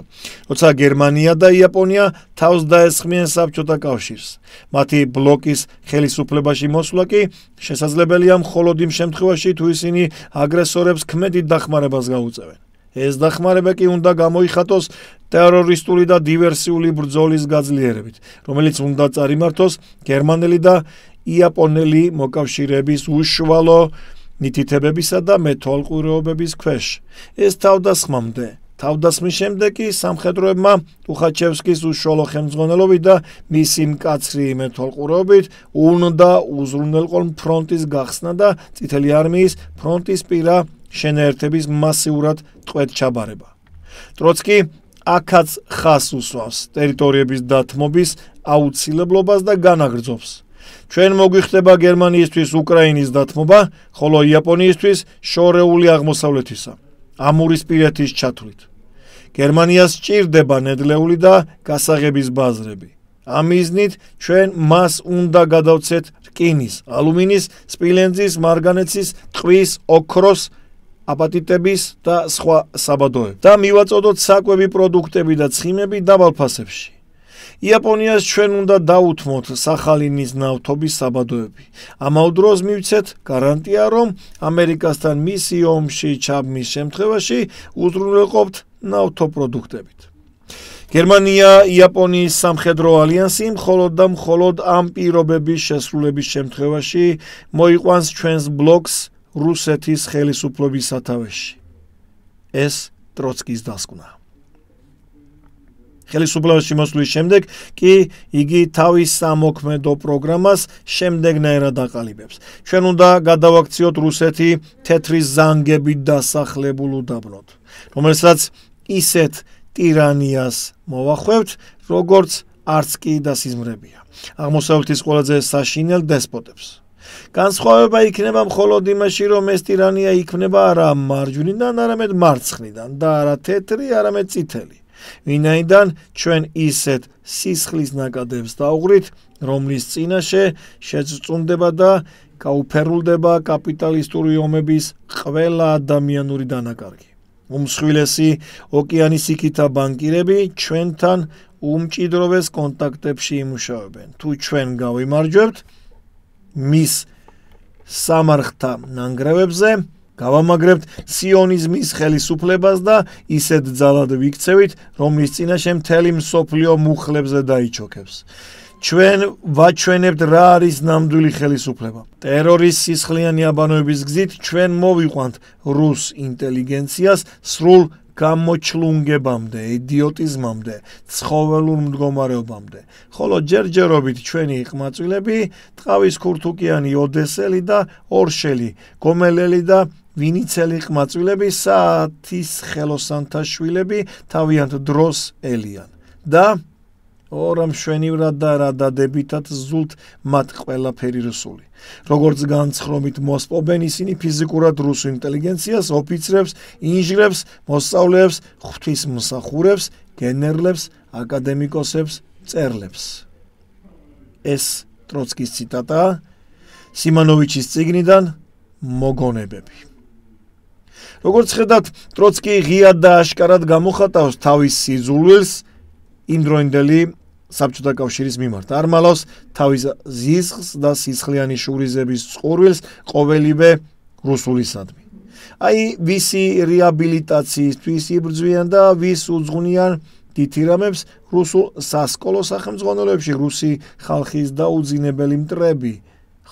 როცა გერმანია და იაპონია თავს დაესხმიან საბჭოთა კავშირს. მათი ბლოკის ხელისუფლებაში მოსვლა კი შესაძლებელია მხოლოდ იმ შემთხვევაში, თუ ისინი აგრესორებს ქმედით დახმარებას გაუწევენ. ეს დახმარება კი უნდა გამოიხატოს ტერორისტული და დივერსიული ბრძოლის გაძლიერებით, რომელიც უნდა წარიმართოს გერმანელი და იაპონელი მოკავშირეების უშუალო მითითებებისა და მეთვალყურეობების ქვეშ. ეს თავდასხმამდე. თავდასხმის შემდეგ კი სამხედროებმა ტუხაჩევსკის უშუალო ხელმძღვანელობით და მისი მკაცრი მეთვალყურეობით უნდა უზრუნველყონ ფრონტის გახსნა და წითელი არმიის ფრონტისპირა შენაერთების მასიურად ტყვედ-ჩაბარება. ტროცკი აქაც ხაზს უსვავს ტერიტორიების დათმობის აუცილებლობას და განაგრძობს. ჩვენ მოგვიხდება გერმანიისთვის უკრაინის დათმობა, ხოლო იაპონიისთვის შორეული აღმოსავლეთისა, ამურისპირეთის ჩათვლით. გერმანიას სჭირდება ნედლეული და გასაღების ბაზრები. ამ მიზნით ჩვენ მას უნდა გადავცეთ რკინის, ალუმინის, სპილენძის, მარგანეცის, ტყვის, ოქროს, აპატიტების და სხვა საბადოები და მივაწოდოთ საკვები პროდუქტები და ცხიმები დაბალფასებში. იაპონიას ჩვენ უნდა დაუთმოთ სახალინის ნავთობის საბადოები. ამავ დროს მივცეთ გარანტია, რომ ამერიკასთან მისი ომში ჩაბმის შემთხვევაში უზრუნველყოფთ ნავთობპროდუქტებით. გერმანია იაპონიის სამხედრო ალიანსი მხოლოდ ამ პირობების შესრულების შემთხვევაში მოიყვანს ჩვენს ბლოკს რუსეთის ხელისუფლების სათავეში. ეს ტროცკის დასკვნა. ხელისუფლებაში მოსვლის შემდეგ კი იგი თავის სამოქმედო პროგრამას შემდეგნაირად აყალიბებს. ჩვენ უნდა გადავაქციოთ რუსეთი თეთრი ზანგებით დასახლებულ უდაბნოდ, რომელსაც ისეთ ტირანიას მოვახვევთ, როგორც არც კი დასიზმრებია. აღმოსავლეთის ყველაზე საშინელ დესპოტებს. განსხვავება იქნება მხოლოდ იმაში, რომ ეს ტირანია იქმნება არა მარჯვნიდან, არამედ მარცხნიდან და არა თეთრი, არამედ წითელი. ვინაიდან ჩვენ ისეთ სისხლის ნაკადებს დავუღრით, რომლის წინაშე შეწწუნდება და გაუფერულდება კაპიტალისტური ომების ყველა ადამიანური დანაკარგი. უმსხვილესი ოკეანის იქითა ბანკირები ჩვენთან უმჭიდროვეს კონტაქტებში იმუშავებენ. თუ ჩვენ გავიმარჯვებთ მის სამარხთა ნანგრევებზე, გავამაგრებთ სიონიზმის ხელისუფლებას და ისეთ ძალად ვიქცევით, რომლის წინაშე მთელი მსოფლიო მუხლებზე დაიჩოქებს. ჩვენ ვაჩვენებთ რა არის ნამდვილი ხელისუფლება. ტერორის სისხლიანი აბანოების გზით ჩვენ მოვიყვანთ რუს ინტელიგენციას სრულ გამოჩლუნგებამდე, იდიოტიზმამდე, ცხოველურ მდგომარეობამდე. ხოლო ჯერჯერობით ჩვენი ყმაწვილები, ტყავის ქურთუკიანი ოდესელი და ორშელი, გომელელი და ვინიცელი ყმაწვილები, საათის ხელოსანთა შვილები თავიანთ დროს ელიან და ორამ შვენივრად და რა დადებითად ზულთ მათ ყველაფერი რუსული. როგორც განცხრომით მოსპობენ ისინი ფიზიკურად რუსულ ინტელიგენციას, ოფიცრებს, ინჟინრებს, მოსწავლეებს, ღვთისმსახურებს, გენერლებს, აკადემიკოსებს, მწერლებს. ეს ტროცკის ციტატაა სიმანოვიჩის წიგნიდან მოგონებები. როგორც ხედავთ, ტროცკი ღიად და აშკარად გამოხატავს თავის სიძულვილს იმდროინდელი საბჭოთა კავშირის მიმართ. არ მალავს თავის ზიზღს და სისხლიანი შურიზების წყურვილს ყოველივე რუსულისადმი. აი ვისი რეაბილიტაციისთვის იბრძვიან და ვის უძღვნიან დითირამებს რუსულ სასკოლო სახელმძღვანელოებში რუსი ხალხის დაუძინებელი მტრები,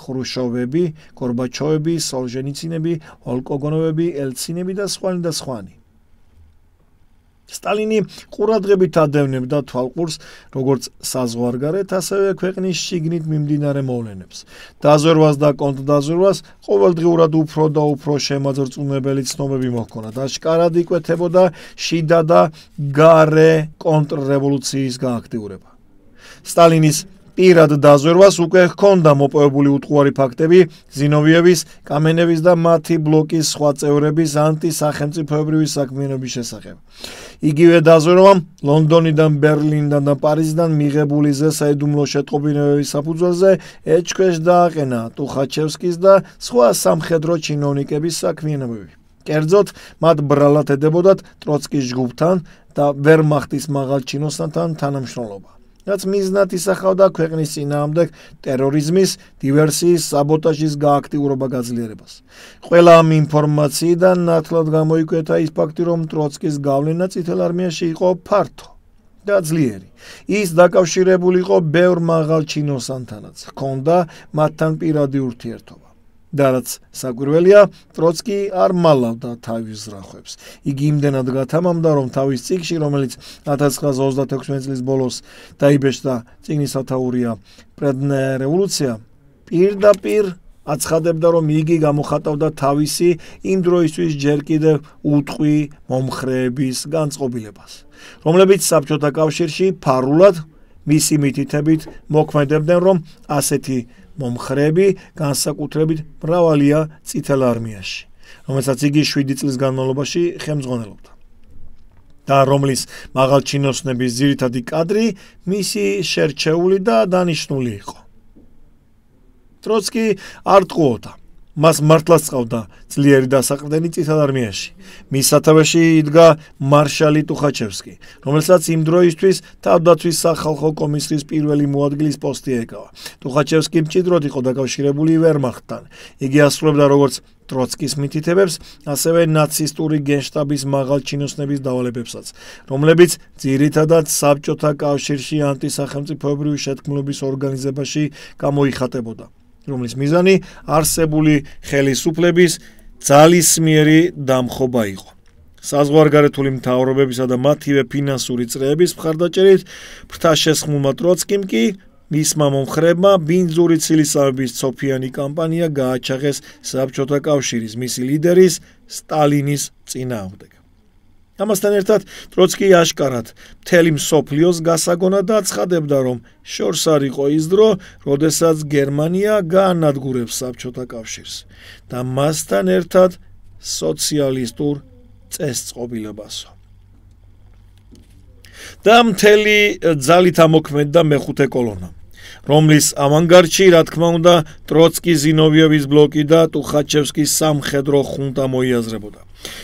ხრუშოვები, გორბაჩოვები, სოლჟენიცინები, ოლკოგონოვები, ელცინები და სხვანი. სტალინი ყურადღებით ადევნებდა თვალყურს როგორც საზღვარგარეთ, ასევე ქვეყნის შიგნით მიმდინარე მოვლენებს. დაზვერვას და კონტრდაზვერვას ყოველდღიურად უფრო და უფრო შემაძრწუნებელი ცნობები მოჰქონდა და აშკარად იკვეთებოდა შიდა და გარე კონტრრევოლუციის გააქტიურება. სტალინის პირად დაზვერვას უკვე ჰქონდა მოპოვებული უტყუარი ფაქტები ზინოვიევის, კამენევის და მათი ბლოკის სხვა წევრების ანტისახელმწიფოებრივი საქმიანობის შესახებ. იგივე დაზვერვამ ლონდონიდან, ბერლინიდან და პარიზიდან მიღებული ზესაიდუმლო შეტყობინებების საფუძველზე ეჭქვეშ დააყენა ტუხაჩევსკის და სხვა სამხედრო ჩინოვნიკების საქმიანობები. კერძოდ, მათ ბრალად ედებოდათ ტროცკის ჯგუფთან და ვერმახტის მაღალ ჩინოსანთან თანამშრომლობა. რაც მიზნად ისახავდა ქვეყნის წინააღმდეგ ტერორიზმის, დივერსიის, საბოტაჟის გააქტიურება გაძლიერებას. ყველა ამ ინფორმაციიდან ნათლად გამოიკვეთა ის ფაქტი, რომ ტროცკის გავლენა წითელ არმიაში იყო ფართო და ძლიერი. ის დაკავშირებული იყო ბევრ მაღალ ჩინოსანთანაც, ჰქონდა მათთან პირადი ურთიერთობა. და რაც საკვირველია, ტროცკი არ მალავდა თავის ზრახვებს. იგი იმდენად გათამამდა, რომ თავის წიგნში, რომელიც 1926 წლის ბოლოს დაიბეჭდა, წიგნის სათაურია პრედნაია რევოლუცია, პირდაპირ აცხადებდა, რომ იგი გამოხატავდა თავისი იმ დროისთვის ჯერ კიდევ უტყვი მომხრეების განწყობილებას, რომლებიც საბჭოთა კავშირში ფარულად მისი მითითებით მოქმედებდნენ, რომ ასეთი მომხრეები განსაკუთრებით მრავალია წითელ არმიაში, რომელსაც იგი 7 წლის განმავლობაში ხელმძღვანელობდა და რომლის მაღალჩინოსნების ძირითადი კადრი მისი შერჩეული და დანიშნული იყო. ტროცკი არ ტყუოდა. მას მართლაც ყავდა ძლიერი დასაყრდენი წითელ არმიაში. მის სათავეში იდგა მარშალი ტუხაჩევსკი, რომელსაც იმ დროისთვის თავდაცვის სახალხო კომისრის პირველი მოადგილის პოსტი ეკავა. ტუხაჩევსკი მჭიდროდ იყო დაკავშირებული ვერმახტთან. იგი ასრულებდა როგორც ტროცკის მითითებებს, ასევე ნაცისტური გენშტაბის მაღალჩინოსნების დავალებებსაც, რომლებიც ძირითადად საბჭოთა კავშირში ანტისახელმწიფოებრივი შეთქმულების ორგანიზებაში გამოიხატებოდა, რომლის მიზანი არსებული ხელისუფლების ძალისმიერი დამხობა იყო. საზღვარგარეთული მთავრობებისა და მათივე ფინანსური წრეების მხარდაჭერით ფრთაშესხმულმა ტროცკიმ კი მისმა მომხრებმა ბინძური ცილისავების ცოფიანი კამპანია გააჩაღეს საბჭოთა კავშირის მისი ლიდერის სტალინის წინააღმდეგ. ამასთან ერთად ტროცკი აშკარად მთელი მსოფლიოს გასაგონად აცხადებდა, რომ შორს არ იყო ის დრო, როდესაც გერმანია გაანადგურებს საბჭოთა კავშირს და მასთან ერთად სოციალისტურ წესწყობილებასო. და მთელი ძალით ამოქმედდა მეხუთე კოლონა, რომლის ავანგარდში, რა თქმა უნდა, ტროცკი, ზინოვიევის ბლოკი და ტუხაჩევსკის სამხედრო ხუნტა მოიაზრებოდა.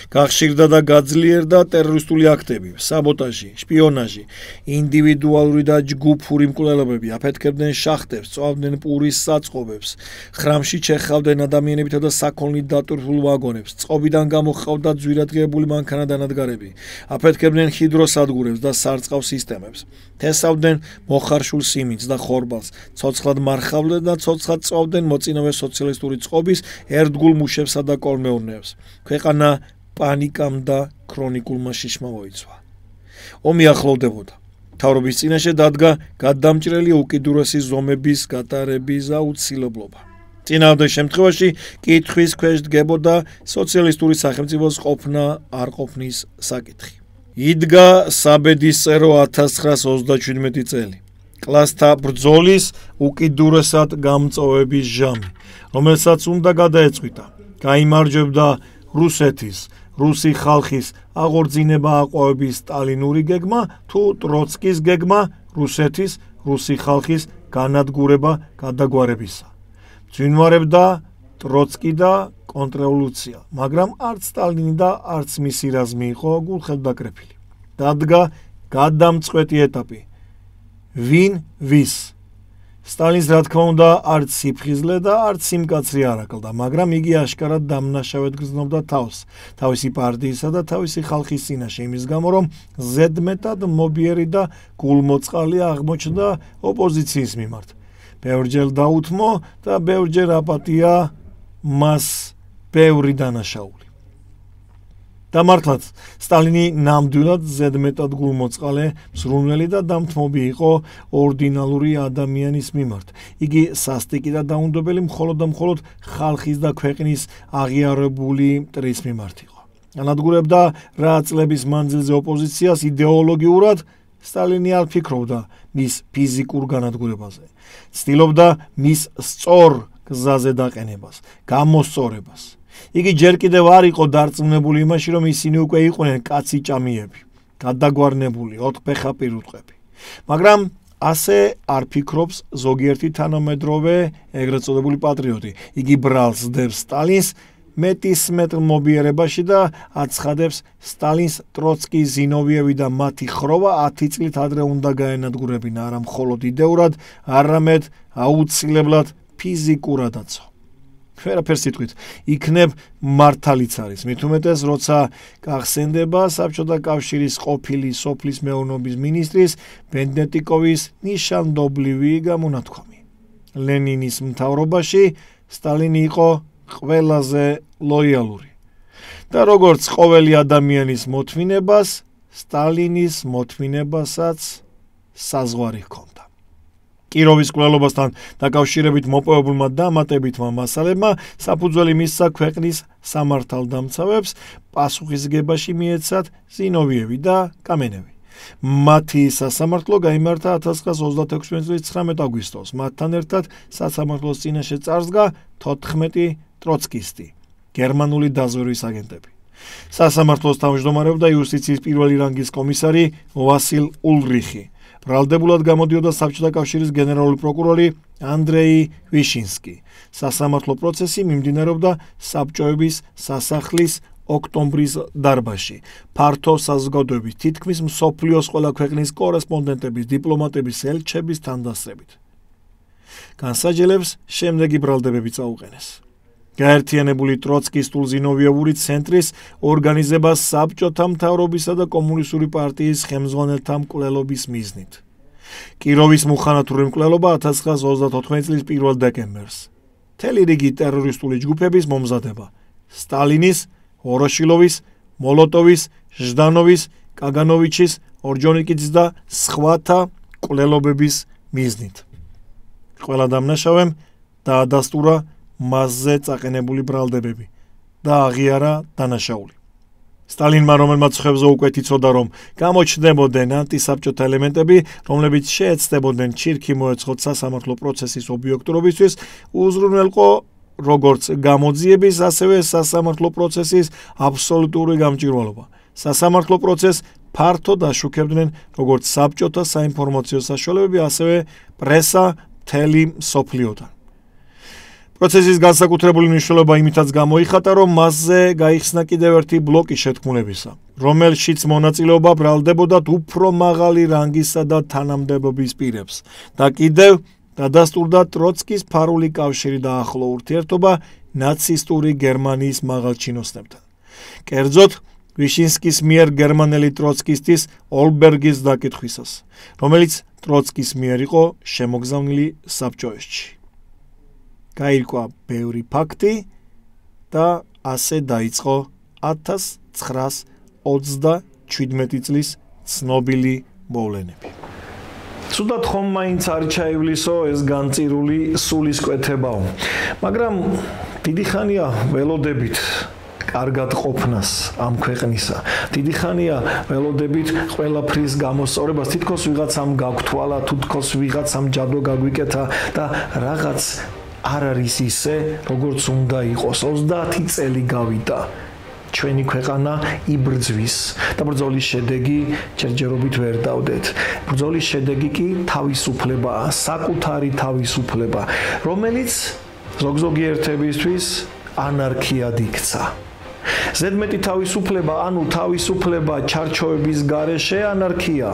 გახშირდა და გაძლიერდა ტერორისტული აქტები, საბოტაჟი, შპიონაჟი, ინდივიდუალური და ჯგუფური მკვლელობები, აფეთქებდნენ შახტებს, წვავდნენ პურის საწყობებს, ხრამში ჩეხავდნენ ადამიანებითა და საქონლით დატვირთულ ვაგონებს, წყობიდან გამოჰყავდა ძვირადღირებული მანქანადანადგარები, აფეთქებდნენ ჰიდროსადგურებს და სარწყავ სისტემებს, თესავდნენ მოხარშულ სიმინდს და ხორბალს, ცოცხლად მარხავდნენ და ცოცხლად წვავდნენ მოწინავე სოციალისტური წყობის ერთგულ მუშებსა და კოლმეურნეებს. ქვეყანა პანიკამ და ქრონიკულმა შიშმა მოიცვა. ომი ახლოვდებოდა. მთავრობის წინაშე დადგა გადამჭრელი უკიდურესი ზომების გატარების აუცილებლობა. წინააღმდეგ შემთხვევაში კითხვის ქვეშ დგებოდა სოციალისტური სახელმწიფოს ყოფნა არ ყოფნის საკითხი. იდგა საბედისწერო 1927 წელი. კლასთა ბრძოლის უკიდურესად გამწოვების ჟამი, რომელსაც უნდა გადაეწყვიტა. გაიმარჯვებდა რუსეთის, რუსი ხალხის აღორძინება აყვავების სტალინური გეგმა თუ ტროცკის გეგმა რუსეთის, რუსი ხალხის განადგურება გადაგვარებისა. ძვინვარებდა ტროცკი და კონტრრევოლუცია, მაგრამ არც სტალინი და არც მისი რაზმი იყო გულხელდაკრეფილი. დადგა გადამწყვეტი ეტაპი. ვინ ვის? სტალინს რა თქმა უნდა არც სიფხიზლე და არც სიმკაცრი არ აკლდა, მაგრამ იგი აშკარად დამნაშავედ გრძნობდა თავს, თავისი პარტიისა და თავისი ხალხის წინაშე, იმის გამო, რომ ზედმეტად მობიერი და გულმოწყალი აღმოჩნდა ოპოზიციის მიმართ. ბევრჯერ დაუთმო და ბევრჯერ აპატია მას ბევრი დანაშაული. და მართლაც, სტალინი ნამდვილად ზედმეტად გულმოწყალე, მსრუნველი და დამთმობი იყო ორდინალური ადამიანის მიმართ. იგი სასტიკი და დაუნდობელი მხოლოდ და მხოლოდ ხალხის და ქვეყნის აღიარებული მტრის მიმართ იყო. ანადგურებდა რა წლების მანძილზე ოპოზიციას იდეოლოგიურად, სტალინი არ ფიქრობდა მის ფიზიკურ განადგურებაზე. ცდილობდა მის სწორ გზაზე დაყენებას, გამოსწორებას. იგი ჯერ კიდევ არ იყო დარწმუნებული იმაში, რომ ისინი უკვე იყვნენ კაცი ჭამიები, გადაგვარნებული, ოთხფეხა პირუტყვები. მაგრამ ასე არ ფიქრობს ზოგიერთი თანამედროვე ეგრეთ წოდებული პატრიოტი. იგი ბრალს დებს სტალინს მეტისმეტ მობიერებაში და აცხადებს სტალინს ტროცკი, ზინოვიევი და მათი ხროვა 10 წლით ადრე უნდა გაენადგურებინა, არა მხოლოდ იდეურად, არამედ აუცილებლად ფიზიკურადაცო. ვერაფერ სიტყვით, იქნებ მართალიც არის, მით უმეტეს, როცა გახსენდება საბჭოთა კავშირის ყოფილი სოფლის მეურნეობის მინისტრის ბენდეტიკოვის ნიშანდობლივი გამონათქვამი. ლენინის მთავრობაში სტალინი იყო ყველაზე ლოიალური და როგორც ყოველი ადამიანის მოთმინებას, სტალინის მოთმინებასაც საზღვარი ჰქონდა. კიროვის მკვლელობასთან დაკავშირებით მოპოვებულმა დამატებითმა მასალებმა საფუძველი მისცა ქვეყნის სამართალდამცავებს პასუხისგებაში მიეცათ ზინოვიევი და კამენევი. მათი სასამართლო გაიმართა 1936 წლის 19 აგვისტოს. მათთან ერთად სასამართლოს წინაშე წარსდგა 14 ტროცკისტი, გერმანული დაზვერვის აგენტები. სასამართლოს თავმჯდომარეობდა იუსტიციის პირველი რანგის კომისარი ვასილ ულრიხი, ბრალდებულად გამოდიოდა საბჭოთა კავშირის გენერალური პროკურორი ანდრეი ვიშინსკი. სასამართლო პროცესი მიმდინარეობდა საბჭოების სასახლის ოქტომბრის დარბაზში. ფართო საზოგადოების თითქმის მსოფლიოს ყველა ქვეყნის კორესპონდენტების, დიპლომატების, ელჩების თანდასწრებით. განსაჯელებს შემდეგი ბრალდებები წაუყენეს. გაერთიანებული ტროცკისტულ-ზინოვიევური ცენტრის ორგანიზება საბჭოთა მთავრობისა და კომუნისტური პარტიის ხელმძღვანელთა მკვლელობის მიზნით. კიროვის მუხანათური მკვლელობა 1934 წლის 1 დეკემბერს. მთელი რიგი ტერორისტული ჯგუფების მომზადება. სტალინის, ვოროშილოვის, მოლოტოვის, ჟდანოვის, კაგანოვიჩის, ორჯონიკიძის და სხვათა მკვლელობების მიზნით. ყველა დამნაშავემ დაადასტურა მასზე წაყენებული ბრალდებები და აღიარა დანაშაული. სტალინმა, რომელმაც ხევზე უკვე იცოდა, რომ გამოჩნდებოდნენ ანტისაბჭოთა ელემენტები, რომლებიც შეეცდებოდნენ ჩირქი მოეწყოთ სასამართლო პროცესის ობიექტურობისთვის, უზრუნველყო როგორც გამოძიების, ასევე სასამართლო პროცესის აბსოლუტური გამჭვირვალობა. სასამართლო პროცესს ფართოდ აშუქებდნენ როგორც საბჭოთა საინფორმაციო საშუალებები, ასევე პრესა მთელი მსოფლიოდან. პროცესის განსაკუთრებული მნიშვნელობა იმითაც გამოიხატა, რომ მასზე გაიხსნა კიდევ ერთი ბლოკი შეთქმულებისა, რომელშიც მონაწილეობა ბრალდებოდათ უფრო მაღალი რანგისა და თანამდებობის პირებს და კიდევ დადასტურდა ტროცკის ფარული კავშირი და ახლო ურთიერთობა ნაცისტური გერმანიის მაღალჩინოსნებთან. კერძოდ, ვიშინსკის მიერ გერმანელი ტროცკისტის ოლბერგის დაკითხვისას, რომელიც ტროცკის მიერ იყო შემოგზავნილი საბჭოეთში. გაირკვა ბევრი ფაქტი და ასე დაიწყო 1937 წლის ცნობილი მოვლენები. ცუდად ხომ მაინც არ ჩაივლისო ეს განწირული სულისკვეთებაო, მაგრამ დიდი ხანია ველოდებით კარგად ყოფნას ამ ქვეყნისა. დიდი ხანია ველოდებით ყველაფრის გამოსწორებას, თითქოს ვიღაცამ გაგვთვალა, თითქოს ვიღაცამ ჯადო გაგვიკეთა და რაღაც არ არის ისე, როგორც უნდა იყოს. 30 წელი გავიდა. ჩვენი ქვეყანა იბრძვის და ბრძოლის შედეგი ჯერჯერობით ვერ დავდეთ. ბრძოლის შედეგი კი თავისუფლებაა, საკუთარი თავისუფლება, რომელიც ზოგ-ზოგი ერთებისთვის ანარქიად იქცა. ზედმეტი თავისუფლება, ანუ თავისუფლება ჩარჩოების გარეშე ანარქია.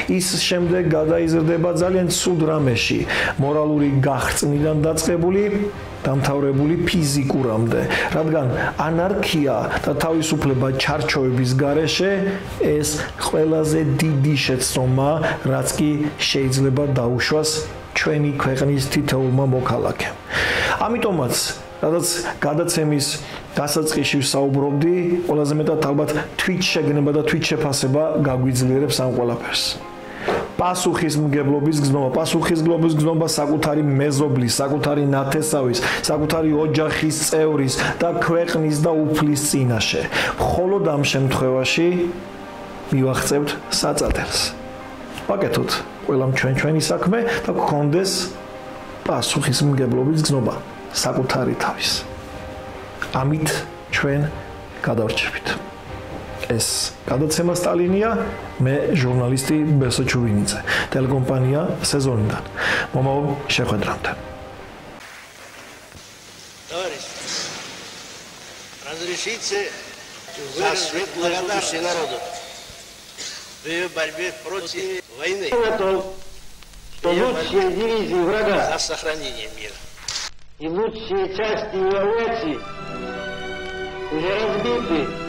ის შემდეგ გადაიზრდება ძალიან ცუდ რამეში, მორალური გაღწნიდან დაწყებული, დამთავრებული ფიზიკურამდე, რადგან ანარქია და თავისუფლება ჩარჩოების გარეშე ეს ყველაზე დიდი შეცდომა, რაც კი შეიძლება დაუშვას ჩვენი ქვეყნის თითოეულმა მოქალაქემ. ამიტომაც, რადგან გადაცემის დასაწყისში ვსაუბრობდი, ყველაზე მეტად ალბათ თვით შეგნება და თვით შეფასება გაგვიძლიერებს ამ ყველაფერს. პასუხისმგებლობის გზნობა საკუთარი მეზობლის, საკუთარი ნათესავის, საკუთარი ოჯახის წევრის და ქვეყნის და უფლის წინაშე. მხოლოდ ამ შემთხვევაში მივახცევთ საწადელს. ვაკეთოთ ყველამ ჩვენი საქმე და გქონდეს პასუხისმგებლობის გზნობა საკუთარი თავის. ამით ჩვენ გადავრჩებით. ეს გადაცემა სტალინია, მე ჟურნალისტი ბესო ჩუბინიძე, ტელეკომპანია სეზონიდან. მომავალ შეხვედრამდე. Товарищи, разрешите за светлую душу народу в ее борьбе против войны. Что лучшие дивизии врага За сохранение мира. и лучшие части его авиации уже разбиты